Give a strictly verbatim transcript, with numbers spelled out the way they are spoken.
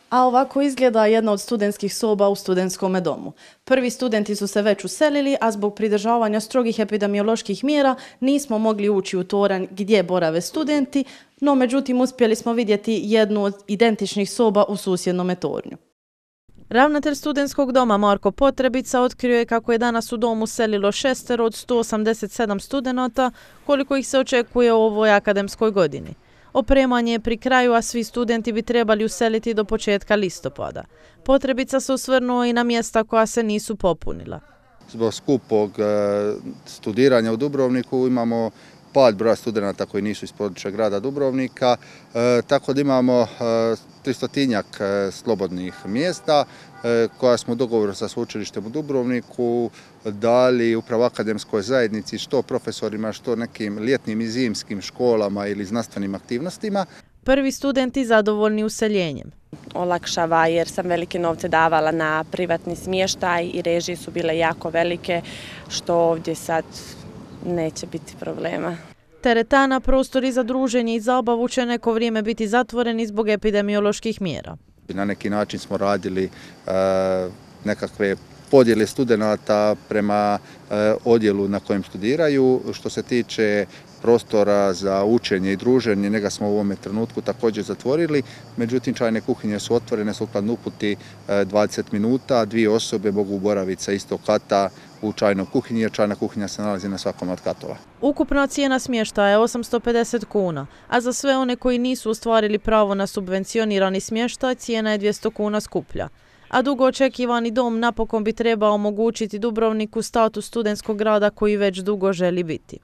A ovako izgleda jedna od studentskih soba u studentskom domu. Prvi studenti su se već uselili, a zbog pridržavanja strogih epidemioloških mjera nismo mogli ući u toranj gdje borave studenti, no međutim uspjeli smo vidjeti jednu od identičnih soba u susjednom tornju. Ravnatelj studentskog doma Marko Potrebica otkrio je kako je danas u domu selilo šestero od sto osamdeset sedam studenata, koliko ih se očekuje u ovoj akademskoj godini. Opremanje je pri kraju, a svi studenti bi trebali useliti do početka listopada. Potrebica se osvrnuo i na mjesta koja se nisu popunila. Zbog skupog studiranja u Dubrovniku imamo pad broja studenata koji nisu iz područja grada Dubrovnika, e, tako da imamo tristotinjak slobodnih mjesta e, koja smo u dogovoru sa sveučilištem u Dubrovniku dali upravo akademskoj zajednici, što profesorima, što nekim ljetnim i zimskim školama ili znanstvenim aktivnostima. Prvi studenti zadovoljni useljenjem. Olakšava jer sam velike novce davala na privatni smještaj i režije su bile jako velike, što ovdje sad neće biti problema. Teretana, prostori za druženje i zabavu će neko vrijeme biti zatvoreni zbog epidemioloških mjera. Na neki način smo radili e, nekakve podjele studenata prema e, odjelu na kojem studiraju. Što se tiče prostora za učenje i druženje, njega smo u ovome trenutku također zatvorili, međutim čajne kuhinje su otvorene sukladno uputi dvadeset minuta, dvije osobe mogu boraviti sa istog kata u čajnoj kuhinji, jer čajna kuhinja se nalazi na svakom od katova. Ukupna cijena smještaja je osamsto pedeset kuna, a za sve one koji nisu ostvarili pravo na subvencionirani smještaj cijena je dvjesto kuna skuplja. A dugo očekivani dom napokon bi trebao omogućiti Dubrovniku status studentskog grada koji već dugo želi biti.